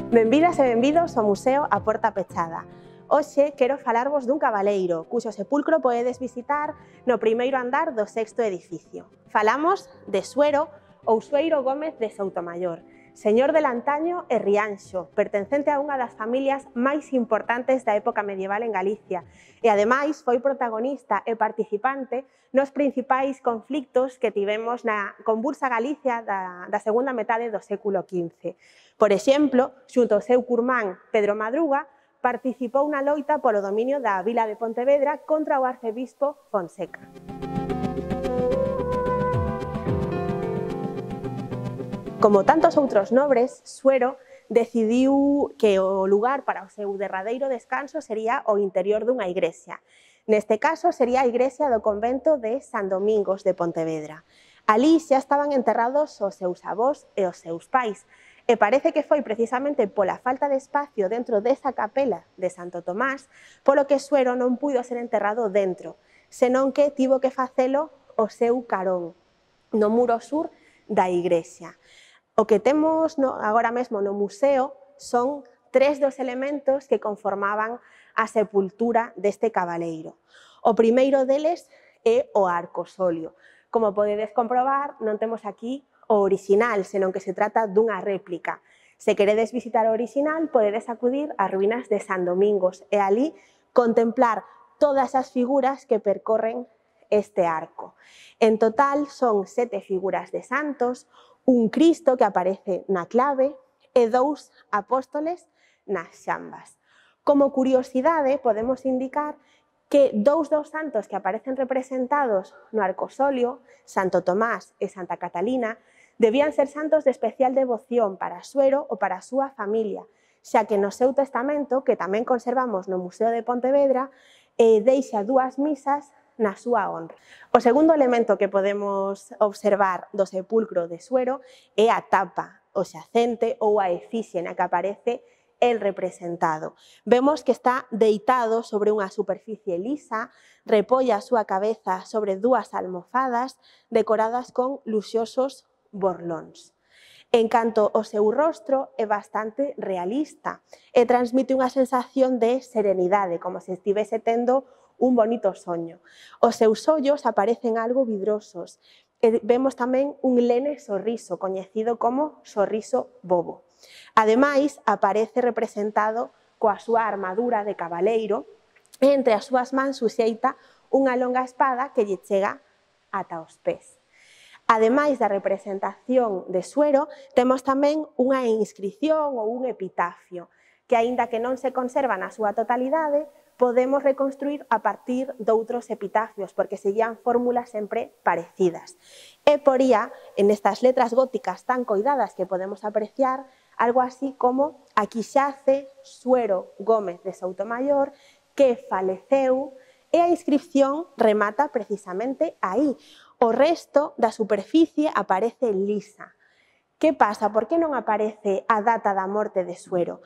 Benvidas e benvidos ao Museo A Porta Pechada. Hoxe quero falarvos dun cabaleiro, cuxo sepulcro podedes visitar no primeiro andar do sexto edificio. Falamos de Suero ou Sueiro Gómez de Soutomaior, señor del Antaño e Rianxo, pertencente a unha das familias máis importantes da época medieval en Galicia e, ademais, foi protagonista e participante nos principais conflictos que tivemos na convulsa Galicia da segunda metade do século XV. Por exemplo, xunto ao seu curmán Pedro Madruga, participou na loita polo dominio da vila de Pontevedra contra o arcebispo Fonseca. Como tantos outros nobres, Suero decidiu que o lugar para o seu derradeiro descanso sería o interior dunha igrexa. Neste caso, sería a igrexa do convento de San Domingos de Pontevedra. Alí xa estaban enterrados os seus avós e os seus pais, e parece que foi precisamente pola falta de espacio dentro desa capela de Santo Tomás polo que Suero non puido ser enterrado dentro, senón que tivo que facelo o seu carón, no muro sur da igrexa. O que temos agora mesmo no museo son tres dos elementos que conformaban a sepultura deste cabaleiro. O primeiro deles é o arcosolio. Como podedes comprobar, non temos aquí o original, senón que se trata dunha réplica. Se queredes visitar o original, podedes acudir ás ruínas de San Domingos e alí contemplar todas as figuras que percorren este arco. En total son 7 figuras de santos, un Cristo que aparece na clave e 2 apóstoles nas xambas. Como curiosidade, podemos indicar que 2 dos santos que aparecen representados no arcosolio, Santo Tomás e Santa Catalina, debían ser santos de especial devoción para Suero ou para a súa familia, xa que no seu testamento, que tamén conservamos no Museo de Pontevedra, deixa 2 misas na súa honra. O segundo elemento que podemos observar do sepulcro de Suero é a tapa, o xacente ou a efixe na que aparece el representado. Vemos que está deitado sobre unha superficie lisa, repolla a súa cabeza sobre 2 almofadas decoradas con luxosos borlóns. En canto ao seu rostro, é bastante realista e transmite unha sensación de serenidade, como se estivese tendo un bonito soño. Os seus ollos aparecen algo vidrosos e vemos tamén un lene sorriso, coñecido como sorriso bobo. Ademais, aparece representado coa súa armadura de cabaleiro e entre as súas mans suxeita unha longa espada que lle chega ata os pés. Ademais da representación de Suero, temos tamén unha inscripción ou un epitafio, que, aínda que non se conserva na súa totalidade, podemos reconstruir a partir doutros epitafios, porque seguían fórmulas sempre parecidas. E poría, en estas letras góticas tan coidadas que podemos apreciar, algo así como aquí xace Suero Gómez de Soutomaior, que faleceu, e a inscripción remata precisamente aí. O resto da superficie aparece lisa. Que pasa? Por que non aparece a data da morte de Suero?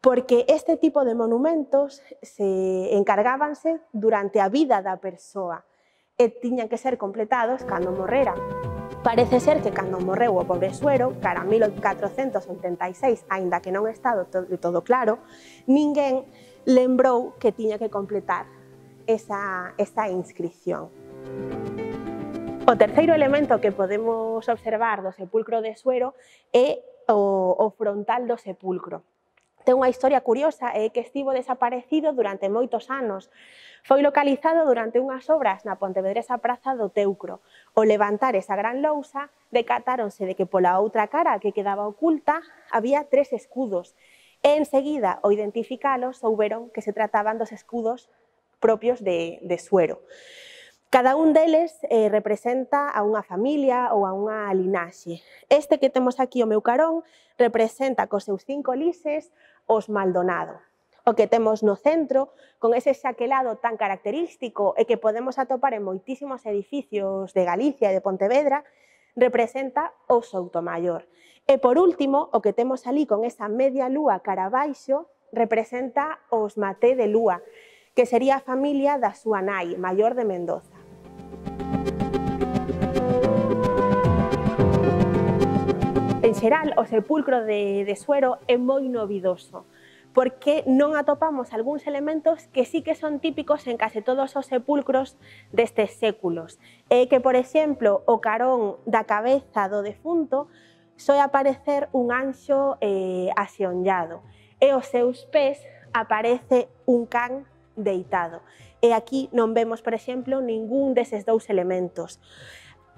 Porque este tipo de monumentos se encargábanse durante a vida da persoa e tiñan que ser completados cando morrera. Parece ser que cando morreu o pobre Suero, cara a 1486, aínda que non está todo claro, ninguén lembrou que tiña que completar esa inscripción. O terceiro elemento que podemos observar do sepulcro de Suero é o frontal do sepulcro. Ten unha historia curiosa e que estivo desaparecido durante moitos anos. Foi localizado durante unhas obras na pontevedresa Praza do Teucro. Ao levantar esa gran lousa, decatáronse de que pola outra cara que quedaba oculta había 3 escudos e enseguida, ao identificalos, souberon que se trataban dos escudos propios de Suero. Cada un deles representa a unha familia ou a unha linaxe. Este que temos aquí ao meu carón representa cos seus 5 lises os Maldonado. O que temos no centro, con ese xaquelado tan característico e que podemos atopar en moitísimos edificios de Galicia e de Pontevedra, representa o Soutomaior. E por último, o que temos ali con esa media lúa cara abaixo, representa os Maté de Lúa, que sería a familia da súa nai, Maior de Mendoza. En xeral, o sepulcro de Suero é moi novidoso, porque non atopamos algúns elementos que sí que son típicos en case todos os sepulcros destes séculos. É que, por exemplo, o carón da cabeza do defunto soe aparecer un anxo axeonllado e aos seus pés aparece un can deitado. E aquí non vemos, por exemplo, ningún deses dous elementos.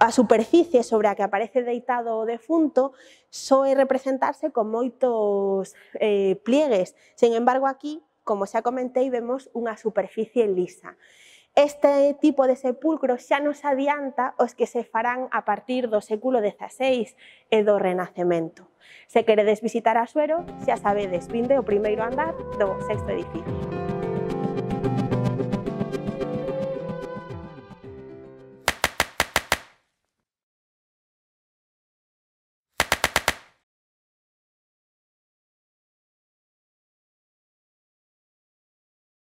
A superficie sobre a que aparece deitado o defunto soe representarse con moitos pliegues. Sen embargo, aquí, como xa comentei, vemos unha superficie lisa. Este tipo de sepulcro xa nos adianta os que se farán a partir do século XVI e do Renacemento. Se queredes visitar a Suero, xa sabedes, vinde ao primeiro andar do 6º edificio.